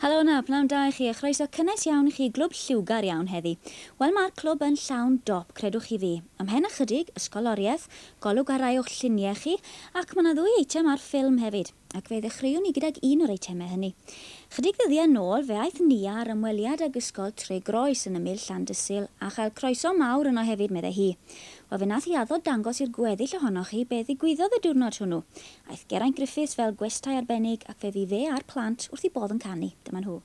Helo yna, pnawn da i chi a chroeso cynnes iawn i chi i glwb lliwgar iawn heddi. Wel mae'r clwb yn llawn dop, credwch chi fi. Ymhen ychydig, ysgoloriaeth, golwg ar rai o'ch lluniau chi, ac mae yna ddwy eitem ar ffilm hefyd, ac fe ddechreuwn ni gydag un o'r eitemau hynny. Chydig ddyddiau nôl, fe aeth Nia ar ymweliad ag ysgol Tre Groes yn ymyl Llandysul, a chael croeso mawr yno hefyd, meddai hi. Wel, fe nath hi addo dangos i'r gweddill ohonoch chi be ddigwyddodd y diwrnod hwnnw. Aeth Geraint Griffiths fel gwestai arbennig ac fe fu fe a'r plant wrth eu bodd yn canu. Dyma nhw.